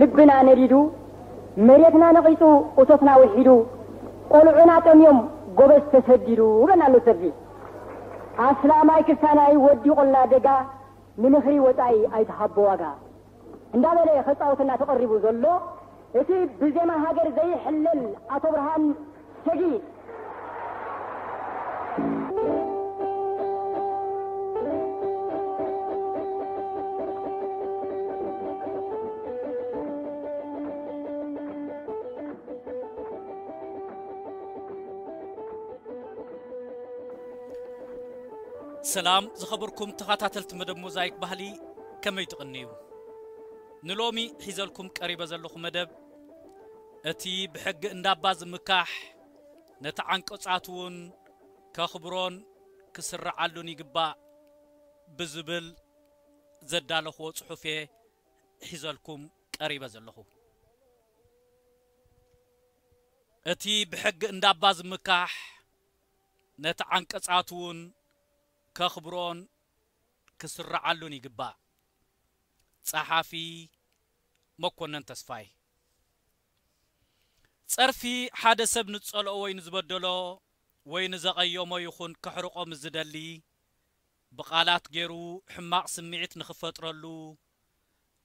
ልብና ነዲዱ፣ መሬትና ነቒጹ፣ እቶትና ውሒዱ፣ ቆልዑና ጠምዮም፣ ጎበዝ ተሰዲዱ፣ ይብለና ኣሎ ጸርፊ። ኣስላማይ ክስታናይ ወዲቑልና ደጋ፣ ንምኽሪ ወጻኢ ኣይትሃቦ ዋጋ። እንዳበለ ከጻውትና ተቐሪቡ ዘሎ፣ እቲ ብዜማ ሃገር ዘይሕለል ኣቶ ብርሃን ሰጊድ። ሰላም ዝኸበርኩም ተኸታተልቲ መደብ ሞዛይክ ባህሊ፣ ከመይ ትቕንዩ? ንሎሚ ሒዘልኩም ቀሪበ ዘለኹ መደብ፣ እቲ ብሕጊ እንዳባ ዝምካሕ፣ ነቲ ዓንቀጻት እውን ከኽብሮን ክስርዓሉን ይግባእ ብዝብል ዘዳለኽዎ ጽሑፍ እየ ሒዘልኩም ቀሪበ ዘለኹ። እቲ ብሕጊ እንዳባ ዝምካሕ፣ ነቲ ዓንቀጻት እውን ከኽብሮን ክስርዓሉን ይግባእ። ጸሓፊ መኮነን ተስፋይ። ጸርፊ ሓደ ሰብ ንጸልኦ ወይ ንዝበደሎ ወይ ንዘቐየሞ ይኹን ከሕርቆ ምስ ዝደሊ፣ ብቓላት ገይሩ ሕማቕ ስምዒት ንኽፈጥረሉ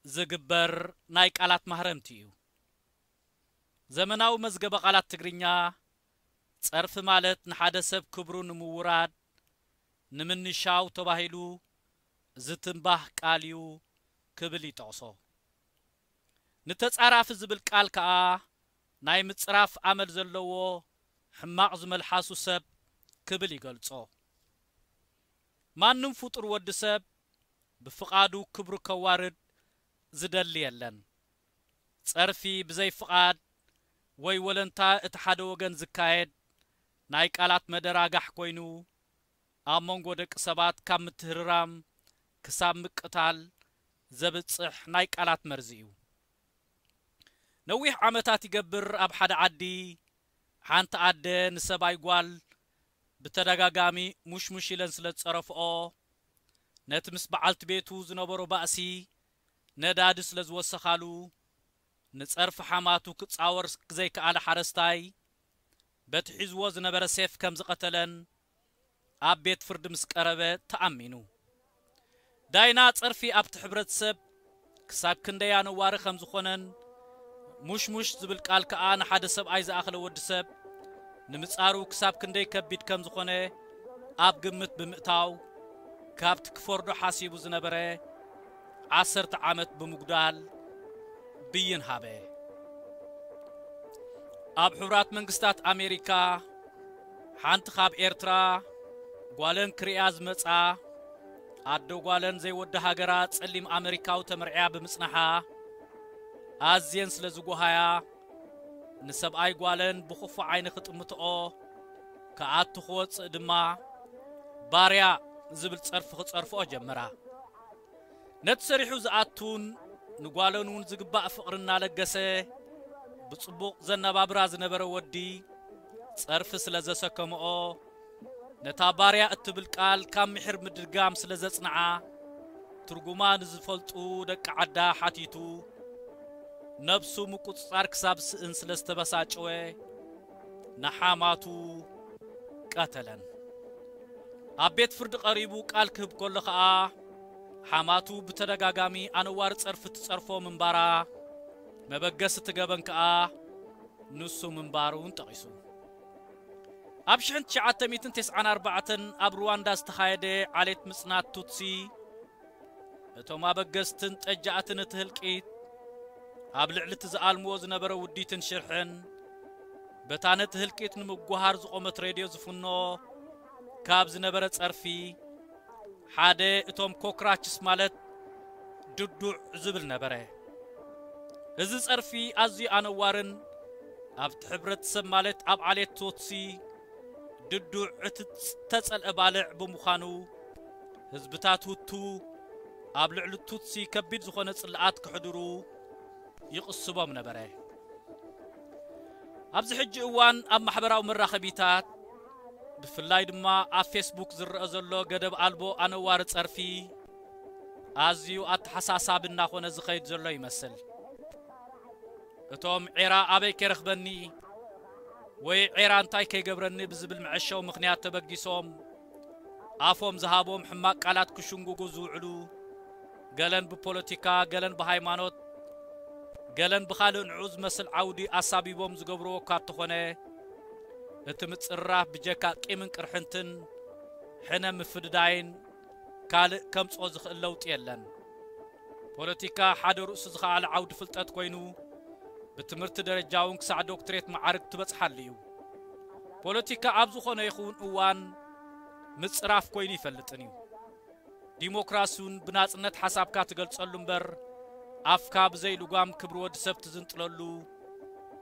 ዝግበር ናይ ቃላት ማህረምቲ እዩ። ዘመናዊ መዝገበ ቃላት ትግርኛ፣ ጸርፊ ማለት ንሓደ ሰብ ክብሩ ንምውራድ፣ ንምንሻው ተባሂሉ ዝትንባህ ቃል እዩ ክብል ይጠቕሶ። ንተጻራፊ ዝብል ቃል ከኣ ናይ ምጽራፍ ኣመል ዘለዎ ሕማቕ ዝመልሓሱ ሰብ ክብል ይገልጾ። ማንም ፍጡር ወዲ ሰብ ብፍቓዱ ክብሩ ከዋርድ ዝደሊ የለን። ጸርፊ ብዘይ ፍቓድ ወይ ወለንታ እቲ ሓደ ወገን ዝካየድ ናይ ቃላት መደራጋሕ ኮይኑ፣ ኣብ መንጎ ደቂ ሰባት ካብ ምትህርራም ክሳብ ምቅታል ዘብጽሕ ናይ ቃላት መርዚ እዩ። ነዊሕ ዓመታት ይገብር ኣብ ሓደ ዓዲ ሓንቲ ኣደ ንሰብኣይ ጓል ብተደጋጋሚ ሙሽሙሽ ኢለን ስለ ዝጸረፍኦ፣ ነቲ ምስ በዓልቲ ቤቱ ዝነበሮ ባእሲ ነዳዲ ስለ ዝወሰኻሉ፣ ንጸርፊ ሓማቱ ክጻወር ዘይከኣለ ሓረስታይ፣ በቲ ሒዝዎ ዝነበረ ሴፍ ከም ዝቐተለን ኣብ ቤት ፍርዲ ምስ ቀረበ ተኣሚኑ። ዳይና ጸርፊ ኣብቲ ሕብረተሰብ ክሳብ ክንደይ ኣነዋሪ ከም ዝኾነን፣ ሙሽሙሽ ዝብል ቃል ከኣ ንሓደ ሰብኣይ ዝኣኽለ ወዲ ሰብ ንምጻሩ ክሳብ ክንደይ ከቢድ ከም ዝኾነ ኣብ ግምት ብምእታው፣ ካብቲ ክፈርዶ ሓሲቡ ዝነበረ ዓሰርተ ዓመት ብምጉዳል ብይን ሃበ። ኣብ ሕቡራት መንግስታት ኣሜሪካ፣ ሓንቲ ካብ ኤርትራ ጓለን ክርእያ ዝመጻ፣ ኣዶ ጓለን ዘይወዲ ሃገራ ጸሊም ኣመሪካዊ ተመርዕያ ብምጽናሓ፣ ኣዝየን ስለ ዝጓሃያ፣ ንሰብኣይ ጓለን ብኽፉእ ዓይኒ ክጥምትኦ፣ ክኣቱ ክወጽእ ድማ፣ ባርያ ዝብል ጸርፊ ክጸርፍኦ ጀመራ። ነቲ ሰሪሑ ዝኣቱን ንጓለን እውን ዝግባእ ፍቕሪ እናለገሰ ብጽቡቕ ዘነባብራ ዝነበረ ወዲ፣ ጸርፊ ስለ ዘሰከምኦ፣ ነታ ባርያ እትብል ቃል ካብ ምሒር ምድጋም ስለ ዘጽንዓ፣ ትርጉማ ንዝፈልጡ ደቂ ዓዳ ሓቲቱ፣ ነብሱ ምቁጽጻር ክሳብ ዝስእን ስለ ዝተበሳጨወ፣ ንሓማቱ ቀተለን። ኣብ ቤት ፍርዲ ቀሪቡ ቃል ክህብ ከሎ ኸኣ፣ ሓማቱ ብተደጋጋሚ ኣነዋሪ ጸርፊ ትጸርፎ ምንባራ፣ መበገሲ እቲ ገበን ከኣ ንሱ ምንባሩን ጠቒሱ። ኣብ ሽሕን ትሽዓተ ሚእትን ተስዓን ኣርባዕተን ኣብ ሩዋንዳ ዝተኻየደ ዓሌት ምጽናት ቱትሲ፣ እቶም ኣበገስትን ጠጃእትን እቲ ህልቂት፣ ኣብ ልዕሊ እቲ ዝኣልምዎ ዝነበረ ውዲትን ሽርሕን፣ በታ ነቲ ህልቂት ንምጉሃር ዝቖመት ሬድዮ ዝፍኖ ካብ ዝነበረ ጸርፊ፣ ሓደ እቶም ኮክራችስ ማለት ድዱዕ ዝብል ነበረ። እዚ ጸርፊ ኣዝዩ ኣነዋርን ኣብቲ ሕብረተሰብ ማለት ኣብ ዓሌት ቱትሲ ድዱዕ እቲ ዝተጸልአ ባልዕ ብምዃኑ፣ ህዝብታት ሁቱ ኣብ ልዕሊ ቱትሲ ከቢድ ዝኾነ ጽልኣት ከሕድሩ ይቕስቦም ነበረ። ኣብዚ ሕጂ እዋን ኣብ ማሕበራዊ መራኸቢታት፣ ብፍላይ ድማ ኣብ ፌስቡክ ዝረአ ዘሎ ገደብ ኣልቦ ኣነዋሪ ጸርፊ፣ ኣዝዩ ኣተሓሳሳቢ እናኾነ ዝኸይድ ዘሎ ይመስል። እቶም ዔራ ኣበይ ከይረኽበኒ ወይ ዔራ እንታይ ከይገብረኒ ብዝብል መዐሸዊ ምኽንያት ተበጊሶም ኣፎም ዝሃቦም ሕማቕ ቃላት ክሽንጉጉ ዝውዕሉ፣ ገለን ብፖለቲካ፣ ገለን ብሃይማኖት፣ ገለን ብኻልእ ንዑ ዝመስል ዓውዲ ኣሳቢቦም ዝገብርዎ እኳ እንተኾነ፣ እቲ ምጽርራፍ ብጀካ ቂምን ቅርሕንትን ሕነ ምፍድዳይን ካልእ ከምጽኦ ዝኽእል ለውጢ የለን። ፖለቲካ ሓደ ርእሱ ዝኸኣለ ዓውዲ ፍልጠት ኮይኑ፣ ብትምህርቲ ደረጃ እውን ክሳዕ ዶክትሬት መዓርግ ትበጽሓሉ እዩ። ፖለቲካ ኣብ ዝኾነ ይኹን እዋን ምጽራፍ ኮይኑ ይፈልጥን እዩ። ዲሞክራሲ እውን ብናጽነት ሓሳብካ ትገልጸሉ እምበር፣ ኣፍካ ብዘይ ልጓም ክብሪ ወዲ ሰብ ትዝንጥለሉ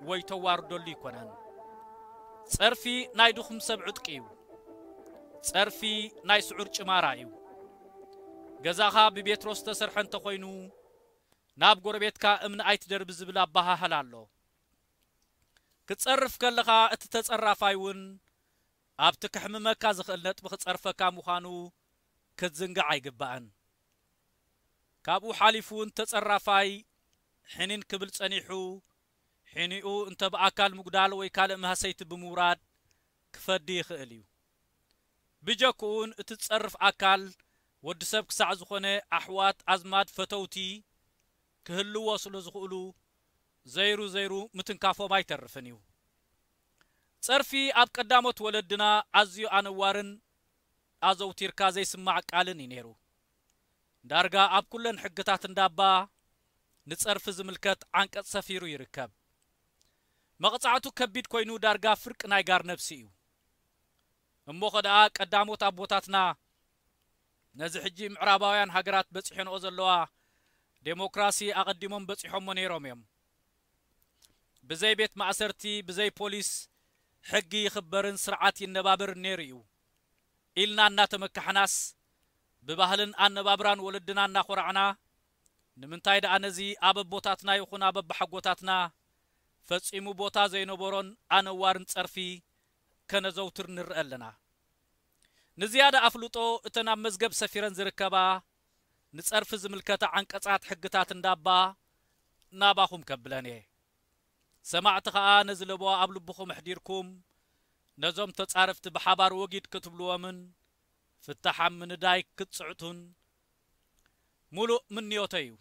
ወይ ተዋርደሉ ይኮነን። ጸርፊ ናይ ድኹም ሰብ ዕጥቂ እዩ። ጸርፊ ናይ ስዑር ጭማራ እዩ። ገዛኻ ብቤትሮ ዝተሰርሐ እንተኾይኑ፣ ናብ ጎረቤትካ እምኒ ኣይትደርቢ ዝብል ኣበሃህላ ኣሎ። ክትጸርፍ ከለኻ፣ እቲ ተጸራፋይ እውን ኣብቲ ከሕምመካ ዝኽእል ነጥቢ ክጸርፈካ ምዃኑ ክትዝንጋዕ ኣይግባእን። ካብኡ ሓሊፉ እውን ተጸራፋይ ሕኒን ክብል ጸኒሑ፣ ሕኒኡ እንተ ብኣካል ምጉዳል ወይ ካልእ ማህሰይቲ ብምውራድ ክፈዲ ይኽእል እዩ። ብጀክኡ እውን እቲ ዝጸርፍ ኣካል ወዲ ሰብ ክሳዕ ዝኾነ ኣሕዋት፣ ኣዝማድ፣ ፈተውቲ ክህልዎ ስለ ዝኽእሉ፣ ዘይሩ ዘይሩ ምትንካፎም ኣይተርፍን እዩ። ጸርፊ ኣብ ቀዳሞት ወለድና ኣዝዩ ኣነዋርን ኣዘውቲርካ ዘይስማዕ ቃልን እዩ ነይሩ። ዳርጋ ኣብ ኩለን ሕግታት እንዳባ ንጸርፊ ዝምልከት ዓንቀጽ ሰፊሩ ይርከብ። መቕጻዕቱ ከቢድ ኮይኑ ዳርጋ ፍርቂ ናይ ጋር ነብሲ እዩ። እሞ ኸ ደኣ ቀዳሞት ኣቦታትና ነዚ ሕጂ ምዕራባውያን ሃገራት በጺሐንኦ ዘለዋ ዴሞክራሲ ኣቐዲሞም በጺሖሞ ነይሮም እዮም። ብዘይ ቤት ማእሰርቲ፣ ብዘይ ፖሊስ፣ ሕጊ ይኽበርን ስርዓት ይነባበርን ነይሩ እዩ ኢልና እናተመካሕናስ፣ ብባህልን ኣነባብራን ወለድና እናኾራዕና፣ ንምንታይ ደኣ ነዚ ኣብ ኣቦታትና ይኹን ኣብ ኣባሓጎታትና ፈጺሙ ቦታ ዘይነበሮን ኣነዋርን ጸርፊ ከነዘውትር ንርአ ኣለና? ንዝያዳ ኣፍልጦ፣ እተን ኣብ መዝገብ ሰፊረን ዝርከባ ንጸርፊ ዝምልከታ ዓንቀጻት ሕግታት እንዳባ ናባኹም ከብለን እየ። ሰማዕቲ ኸኣ ነዚ ለበዋ ኣብ ልብኹም ኣሕዲርኩም፣ ነዞም ተጻረፍቲ ብሓባር ወጊድ ክትብልዎምን ፍታሕ ኣብ ምንዳይ ክትጽዕቱን ምሉእ ምንዮተይ እዩ።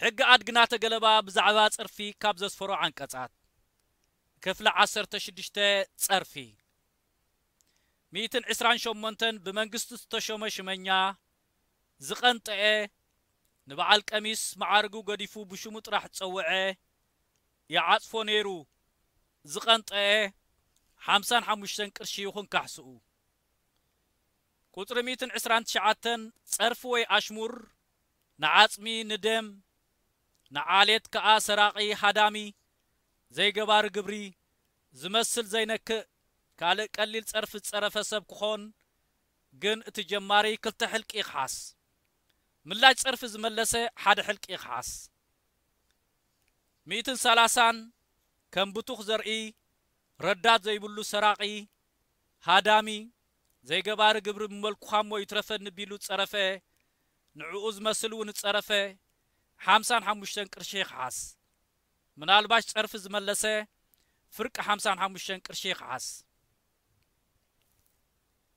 ሕጊ ኣድጊ ናተ ገለባ ብዛዕባ ጸርፊ ካብ ዘስፈሮ ዓንቀጻት። ክፍሊ ዓሰርተ ሽዱሽተ፣ ጸርፊ። ሚእትን ዕስራን ሸሞንተን ብመንግስቲ ዝተሾመ ሽመኛ ዝቐንጠኤ፣ ንበዓል ቀሚስ መዓርጉ ገዲፉ ብሽሙ ጥራሕ ዝጸውዐ፣ ይዓጽፎ ነይሩ ዝቐንጠኤ ሓምሳን ሓሙሽተን ቅርሺ ይኹን ካሕስኡ። ቁጽሪ ሚእትን ዕስራን ትሽዓተን፣ ጸርፊ ወይ ኣሽሙር፣ ንዓጽሚ፣ ንደም፣ ንዓሌት ከኣ ሰራቒ፣ ሃዳሚ፣ ዘይገባሪ ግብሪ፣ ዝመስል ዘይነክእ፣ ካልእ ቀሊል ጸርፊ ዝጸረፈ ሰብ ክኾን፣ ግን እቲ ጀማሪ ክልተ ሕልቂ ይኽሓስ። ምላሽ ጸርፊ ዝመለሰ ሓደ ሕልቂ ይኽሓስ። ሚእትን ሰላሳን፣ ከም ብቱኽ ዘርኢ፣ ረዳት ዘይብሉ ሰራቒ፣ ሃዳሚ፣ ዘይገባሪ ግብሪ፣ ብመልኩኻሞ ይትረፈኒ ቢሉ ዝጸረፈ፣ ንዕኡ ዝመስል እውን ዝጸረፈ፣ ሓምሳን ሓሙሽተን ቅርሺ ይኽሓስ። ምናልባሽ ጸርፊ ዝመለሰ፣ ፍርቂ ሓምሳን ሓሙሽተን ቅርሺ ይኽሓስ።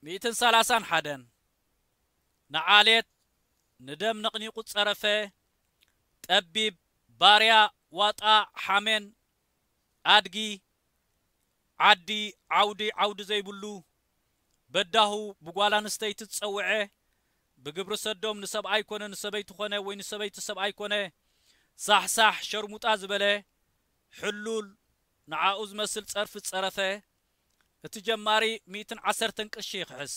ሚእትን ሰላሳን ሓደን፣ ንዓሌት፣ ንደም ነቕኒቑ ዝጸረፈ፣ ጠቢብ፣ ባርያ፣ ዋጣ፣ ሓሜን፣ ኣድጊ፣ ዓዲ፣ ዓውዲ፣ ዓውዲ ዘይብሉ፣ በዳሁ፣ ብጓል ኣንስተይቲ ዝጸውዐ፣ ብግብሪ ሰዶም ንሰብኣይ ኮነ ንሰበይቲ ኮነ ወይ ንሰበይቲ ሰብኣይ ኮነ፣ ሳሕሳሕ፣ ሸርሙጣ ዝበለ፣ ሕሉል፣ ንዓኡ ዝመስል ጸርፊ ዝጸረፈ፣ እቲ ጀማሪ ሚእትን ዓሰርተን ቅርሺ ይኽሕስ።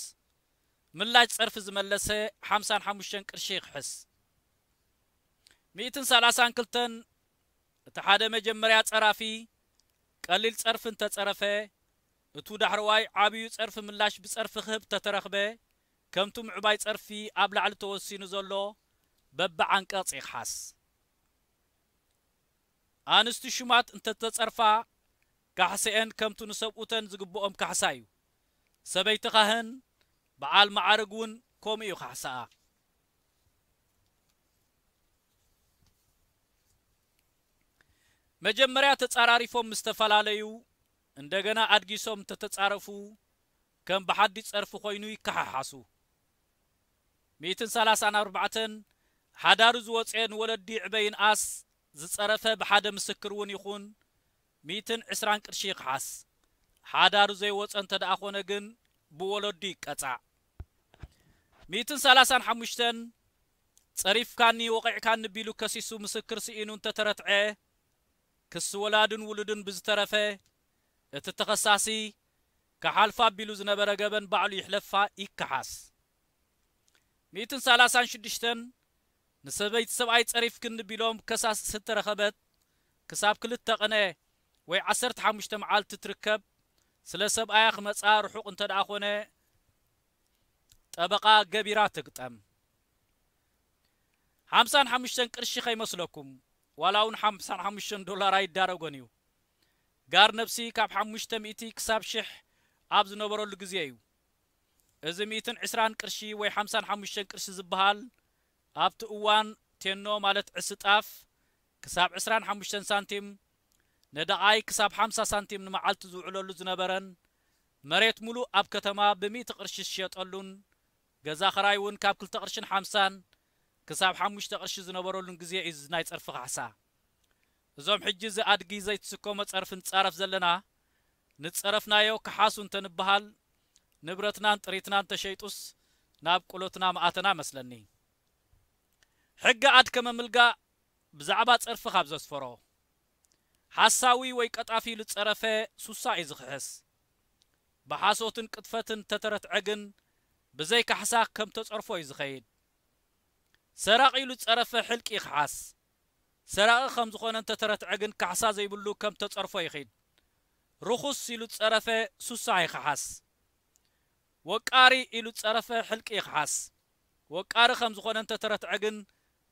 ምላሽ ጸርፊ ዝመለሰ ሓምሳን ሓሙሽተን ቅርሺ ይኽሕስ። ሚእትን ሰላሳን ክልተን፣ እቲ ሓደ መጀመርያ ጸራፊ ቀሊል ጸርፊ እንተጸረፈ፣ እቱ ዳሕረዋይ ዓብዩ ጸርፊ ምላሽ ብጸርፊ ክህብ ተተረኽበ፣ ከምቱ ምዕባይ ጸርፊ ኣብ ላዕሊ ተወሲኑ ዘሎ በብዓንቀጽ ይኽሓስ። ኣንስቲ ሹማት እንተተጸርፋ፣ ካሕሰኤን ከምቱ ንሰብኡተን ዝግብኦም ካሕሳ እዩ። ሰበይቲ ካህን፣ በዓል መዓርግ እውን ከምኡ እዩ ካሕሳኣ። መጀመርያ ተጻራሪፎም ምስ ተፈላለዩ፣ እንደገና ኣድጊሶም እንተተጻረፉ፣ ከም ብሓዲ ጸርፊ ኮይኑ ይከሓሓሱ። ሚእትን ሰላሳን ኣርባዕተን ሓዳሩ ዝወጸ ንወለዲ ዕበ ይንኣስ፣ ዝጸረፈ ብሓደ ምስክር እውን ይኹን፣ ሚእትን ዕስራን ቅርሺ ይክሓስ። ሓዳሩ ዘይወጸ እንተ ደኣ ኾነ ግን ብወለዱ ይቀጻዕ። ሚእትን ሰላሳን ሓሙሽተን ጸሪፍካኒ ወቒዕካኒ ቢሉ ከሲሱ ምስክር ስኢኑ እንተተረትዐ፣ ክሲ ወላድን ውሉድን ብዝተረፈ፣ እቲ ተኸሳሲ ክሓልፋ ቢሉ ዝነበረ ገበን ባዕሉ ይሕለፋ ይከሓስ። ሚእትን ሰላሳን ሽዱሽተን ንሰበይቲ ሰብኣይ ጸሪፍክኒ ቢሎም ከሳስ ዝተረኸበት ክሳብ ክልተ ቅነ ወይ ዓሰርተ ሓሙሽተ መዓልቲ ትርከብ፣ ስለ ሰብኣያ ክመጻ ርሑቕ እንተ ደኣ ኾነ ጠበቓ ገቢራ ትግጠም። ሓምሳን ሓሙሽተን ቅርሺ ከይመስለኩም፣ ዋላ እውን ሓምሳን ሓሙሽተን ዶላር ኣይዳረጎን እዩ። ጋር ነብሲ ካብ ሓሙሽተ ሚእቲ ክሳብ ሽሕ ኣብ ዝነበረሉ ግዜ እዩ። እዚ ሚእትን ዕስራን ቅርሺ ወይ ሓምሳን ሓሙሽተን ቅርሺ ዝበሃል፣ ኣብቲ እዋን ቴኖ ማለት ዕስጣፍ ክሳብ ዕስራን ሓሙሽተን ሳንቲም፣ ነደቓይ ክሳብ ሓምሳ ሳንቲም ንመዓልቲ ዝውዕለሉ ዝነበረን፣ መሬት ሙሉእ ኣብ ከተማ ብሚእቲ ቅርሺ ዝሽየጠሉን፣ ገዛ ኽራይ እውን ካብ ክልተ ቅርሽን ሓምሳን ክሳብ ሓሙሽተ ቅርሺ ዝነበረሉን ግዜ እዩ እዚ ናይ ጸርፊ ካሕሳ። እዞም ሕጂ እዚ ኣድጊ ዘይትስከሞ ጸርፊ ንጻረፍ ዘለና፣ ንጸረፍናዮ ክሓሱ እንተንበሃል፣ ንብረትናን ጥሪትናን ተሸይጡስ ናብ ቁሎትና ምኣተና መስለኒ። ሕጊ ኣድ ከመምልጋእ ብዛዕባ ጸርፊ ካብ ዘስፈሮ፣ ሓሳዊ ወይ ቀጣፊ ኢሉ ዝጸረፈ ሱሳ እዩ ዝኽሕስ። ብሓሶትን ቅጥፈትን ተተረትዐ ግን ብዘይ ካሕሳ ከም ተጸርፎ እዩ ዝኸይድ። ሰራቒ ኢሉ ዝጸረፈ ሕልቂ ይኽሓስ። ሰራቒ ከም ዝኾነ እንተተረትዐ ግን ካሕሳ ዘይብሉ ከም ተጸርፎ ይኺድ። ርኹስ ኢሉ ዝጸረፈ ሱሳ ይኽሓስ። ወቃሪ ኢሉ ዝጸረፈ ሕልቂ ይኽሓስ። ወቃሪ ከም ዝኾነ እንተተረትዐ ግን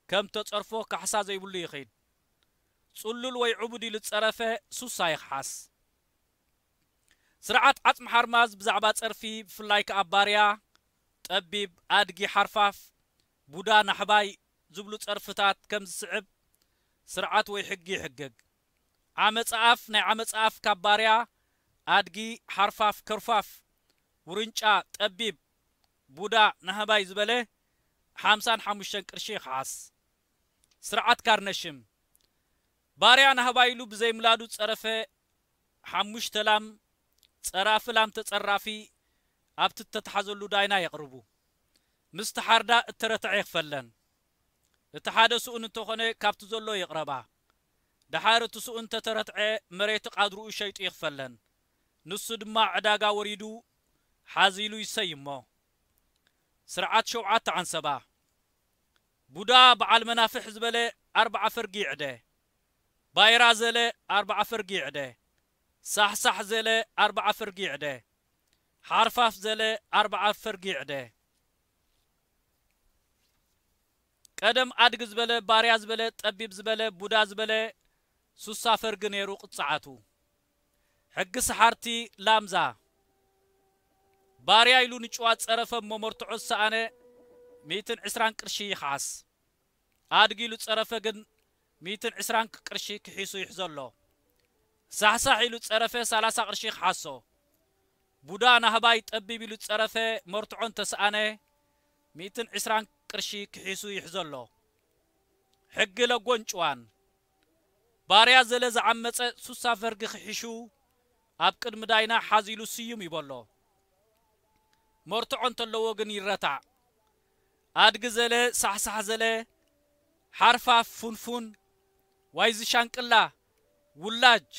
ከም ተጸርፎ ካሕሳ ዘይብሉ ይኺድ። ጽሉል ወይ ዕቡድ ኢሉ ዝጸረፈ ሱሳ ይኽሓስ። ስርዓት ዓጽሚ ሓርማዝ ብዛዕባ ጸርፊ፣ ብፍላይ ከኣ ባርያ፣ ጠቢብ፣ ኣድጊ፣ ሓርፋፍ፣ ቡዳ፣ ናሕባይ ዝብሉ ጸርፍታት ከም ዝስዕብ ስርዓት ወይ ሕጊ ይሕግግ። ዓመጻ ኣፍ፣ ናይ ዓመጻ ኣፍ ካብ ባርያ፣ ኣድጊ፣ ሓርፋፍ፣ ከርፋፍ፣ ውርንጫ፣ ጠቢብ፣ ቡዳ፣ ናህባይ ዝበለ ሓምሳን ሓሙሽተን ቅርሺ ይኽሓስ። ስርዓት ካርነሽም፣ ባርያ ናህባይ ኢሉ ብዘይምላዱ ጸረፈ ሓሙሽተ ላም፣ ጸራፊ ላም ተጸራፊ ኣብቲ እተተሓዘሉ ዳይና የቕርቡ። ምስ ተሓርዳ እተረትዐ ይኽፈለን። እቲ ሓደ ስኡን እንተኾነ ካብቲ ዘሎ ይቕረባ። ደሓር እቲ ስኡን እንተተረትዐ መሬቲ ቃድርኡ ሸይጡ ይኽፈለን። ንሱ ድማ ዕዳጋ ወሪዱ ሓዚሉ ይሰይሞ። ስርዓት ሸውዓተ ዓንሰባ። ቡዳ በዓል መናፍሕ ዝበለ ኣርብዓ ፈርጊ ይዕደ። ባይራ ዘለ ኣርብዓ ፈርጊ ይዕደ። ሳሕሳሕ ዘለ ኣርብዓ ፈርጊ ይዕደ። ሓርፋፍ ዘለ ኣርብዓ ፈርጊ ይዕደ። ቀደም ኣድጊ ዝበለ፣ ባርያ ዝበለ፣ ጠቢብ ዝበለ፣ ቡዳ ዝበለ፣ ሱሳ ፈርጊ ነይሩ ቅጽዓቱ። ሕጊ ሰሓርቲ ላምዛ። ባርያ ኢሉ ንጭዋ ጸረፈ እሞ መርትዖ ዝሰኣነ ሚእትን ዕስራን ቅርሺ ይኽሓስ። ኣድጊ ኢሉ ጸረፈ ግን ሚእትን ዕስራን ቅርሺ ክሒሱ ይሕዘሎ። ሳሕሳሕ ኢሉ ጸረፈ ሰላሳ ቅርሺ ይኽሓሶ። ቡዳ ናህባይ ጠቢብ ኢሉ ጸረፈ መርትዖ እንተሰኣነ ሚእትን ዕስራን ቅርሺ ክሒሱ ይሕዘሎ። ሕጊ ለጎን ጭዋን። ባርያ ዘለ ዝዓመጸ ሱሳ ፈርጊ ክሒሹ ኣብ ቅድሚ ዳይና ሓዚሉ ስዩም ይበሎ። መርትዖ እንተለዎ ግን ይረታዕ። ኣድጊ ዘለ፣ ሳሕሳሕ ዘለ፣ ሓርፋፍ፣ ፉንፉን፣ ዋይዚ ሻንቅላ፣ ውላጅ፣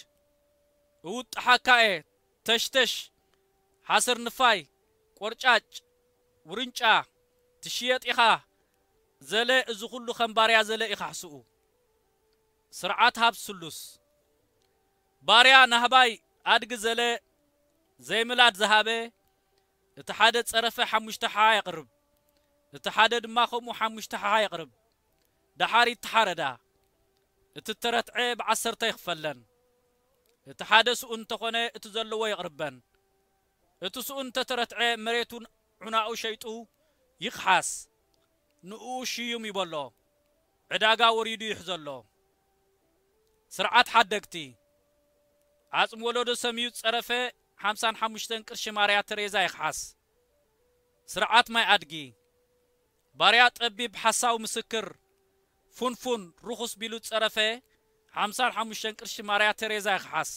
እውጥሓካ እየ፣ ተሽተሽ፣ ሓሰር ንፋይ፣ ቆርጫጭ፣ ውርንጫ፣ ትሽየጥ ኢኻ ዘለ፣ እዚ ኹሉ ከም ባርያ ዘለ ኢኻ ሕስኡ። ስርዓት ሃብ ስሉስ። ባርያ ናህባይ ኣድጊ ዘለ ዘይምላድ ዝሃበ፣ እቲ ሓደ ጸረፈ ሓሙሽተ ሓ የቕርብ፣ እቲ ሓደ ድማ ከምኡ ሓሙሽተ ሓ የቕርብ። ደሓር ይተሓረዳ። እቲ ተረትዐ ብዓሰርተ ይኽፈለን። እቲ ሓደ ስኡን እንተኾነ እቲ ዘለዎ የቕርበን። እቲ ስኡን እንተተረትዐ መሬቱን ዑናኡ ሸይጡ ይኽሓስ። ንኡ ሽዩም ይበሎ። ዕዳጋ ወሪዱ ይሕዘሎ። ስርዓት ሓደግቲ። ዓጽሚ ወለዶ ሰምዩ ዝጸረፈ ሓምሳን ሓሙሽተን ቅርሺ ማርያ ተሬዛ ይኽሓስ። ስርዓት ማይ ኣድጊ። ባርያ ጠቢብ ሓሳዊ ምስክር፣ ፉንፉን፣ ርኹስ ቢሉ ዝጸረፈ ሓምሳን ሓሙሽተን ቅርሺ ማርያ ተሬዛ ይኽሓስ።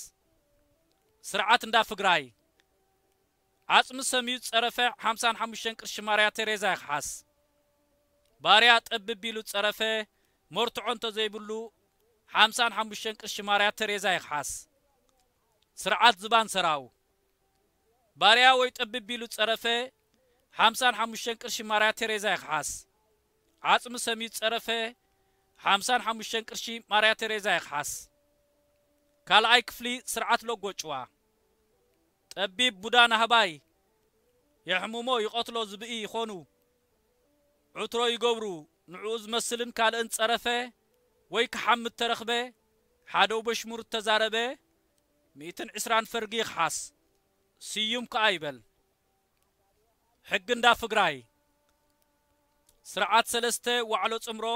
ስርዓት እንዳ ፍግራይ። ዓጽሚ ሰምዩ ዝጸረፈ ሓምሳን ሓሙሽተን ቅርሺ ማርያ ተሬዛ ይኽሓስ። ባርያ ጠብብ ቢሉ ዝጸረፈ መርትዖ እንተዘይብሉ ሓምሳን ሓሙሽተን ቅርሺ ማርያ ተሬዛ ይኽሓስ። ስርዓት ዝባን ሰራው። ባርያ ወይ ጠብብ ቢሉ ዝጸረፈ ሓምሳን ሓሙሽተን ቅርሺ ማርያ ተሬዛ ይኽሓስ። ዓጽሚ ሰምዩ ዝጸረፈ ሓምሳን ሓሙሽተን ቅርሺ ማርያ ተሬዛ ይኽሓስ። ካልኣይ ክፍሊ ስርዓት ሎጎ ጭዋ። ጠቢብ ቡዳ ናህባይ የሕምሞ ይቐትሎ ዝብኢ ይኾኑ። ዕትሮ ይገብሩ፣ ንዕኡ ዝመስልን ካልእን ጸረፈ ወይ ክሓምት ተረኽበ፣ ሓደው በሽሙር ተዛረበ፣ ሚእትን ዕስራን ፈርጊ ይኽሓስ። ስዩም ከኣ ይበል። ሕጊ እንዳ ፍግራይ። ስርዓት ሰለስተ ዋዕሎ ጽምሮ።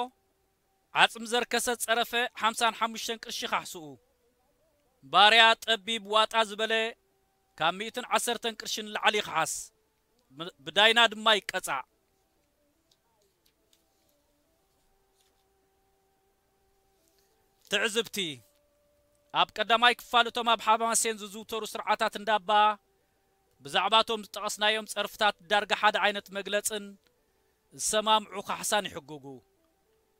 ዓጽሚ ዘርከሰ ጸረፈ ሓምሳን ሓሙሽተን ቅርሺ ካሕስኡ። ባርያ ጠቢብ ዋጣ ዝበለ ካብ ሚእትን ዓሰርተን ቅርሺ ንላዕሊ ይኽሓስ። ብ-፣ ብዳይና ድማ ይቀጻዕ። ትዕዝብቲ። ኣብ ቀዳማይ ክፋል እቶም ኣብ ሓማሴን ዝዝውተሩ ስርዓታት እንዳባ ብዛዕባቶም ዝጠቐስናዮም ጸርፍታት ዳርጋ ሓደ ዓይነት መግለጽን ዝሰማምዑ ካሕሳን ይሕግጉ።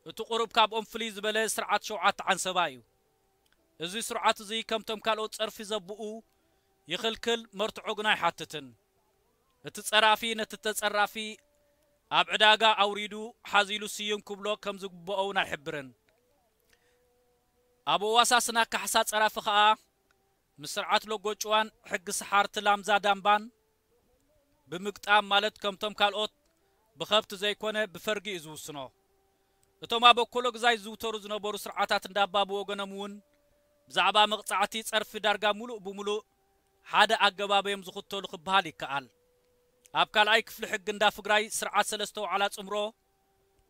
እቲ ቁሩብ ካብኦም ፍልይ ዝበለ ስርዓት ሸውዓተ ዓንሰባ እዩ። እዚ ስርዓት እዚ ከምቶም ካልኦት ጸርፊ ዘብኡ ይኽልክል፣ መርትዖ ግና ኣይሓትትን። እቲ ጸራፊ ነቲ ተጸራፊ ኣብ ዕዳጋ ኣውሪዱ ሓዚሉ ስዩም ክብሎ ከም ዝግብኦ እውን ኣይሕብርን። ኣብ ኣዋሳስና ካሕሳ ጸራፊ ከኣ ምስ ስርዓት ሎጎ ጭዋን ሕጊ ሰሓርቲ ላምዛ ዳምባን ብምግጣም፣ ማለት ከምቶም ካልኦት ብኸብቲ ዘይኮነ ብፈርጊ እዩ ዝውስኖ። እቶም ኣብ ኣኮሎ ግዛይ ዝዝውተሩ ዝነበሩ ስርዓታት እንዳባ ብወገኖም እውን ብዛዕባ መቕጻዕቲ ጸርፊ ዳርጋ ሙሉእ ብሙሉእ ሓደ ኣገባብ እዮም ዝኽተሉ ክበሃል ይከኣል። ኣብ ካልኣይ ክፍሊ ሕጊ እንዳ ፍግራይ ስርዓት ሰለስተ ዋዕላ ጽምሮ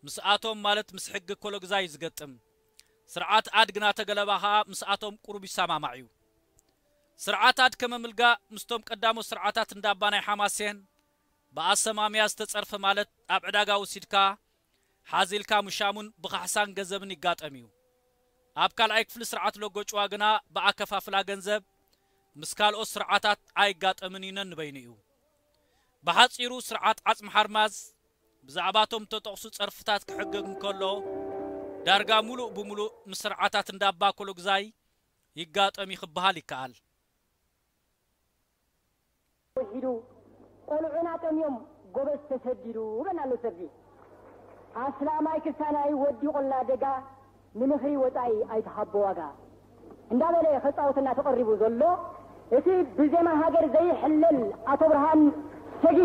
ምስኣቶም፣ ማለት ምስ ሕጊ ኣኮሎ ግዛይ እዩ ዝገጥም። ስርዓት ኣድ ግና ተገለባ ኸኣ ምስኣቶም ቁሩብ ይሰማማዕ እዩ። ስርዓት ኣድ ከመ ምልጋ ምስቶም ቀዳሞት ስርዓታት እንዳባ ናይ ሓማሴን ብኣሰማምያ ዝተጸርፈ፣ ማለት ኣብ ዕዳጋ ወሲድካ ሓዚልካ ምሻሙን ብኻሕሳን ገንዘብን ይጋጠም እዩ። ኣብ ካልኣይ ክፍሊ ስርዓት ሎጎ ጭዋ ግና ብኣከፋፍላ ገንዘብ ምስ ካልኦት ስርዓታት ኣይጋጠምን እዩ ነንበይኑ እዩ። ብሓጺሩ ስርዓት ዓጽሚ ሓርማዝ ብዛዕባቶም እተጠቕሱ ጸርፍታት ክሕገግ እንከሎ፣ ዳርጋ ሙሉእ ብሙሉእ ምስ ስርዓታት እንዳባ ኣኮሎ ግዛይ ይጋጠም እዩ ክበሃል ይከኣል። ውሒዱ ቆልዑና ጠምዮም ጎበዝ ተሰዲዱ በና ኣሎ ሰብዚ። ኣስላማይ ክሳናይ ወዲ ቆላ ደጋ ንምኽሪ ወጻኢ ኣይትሃቦ ዋጋ እንዳበለ ከጻውተና ተቐሪቡ ዘሎ እቲ ብዜማ ሃገር ዘይሕለል ኣቶ ብርሃን ሰጊ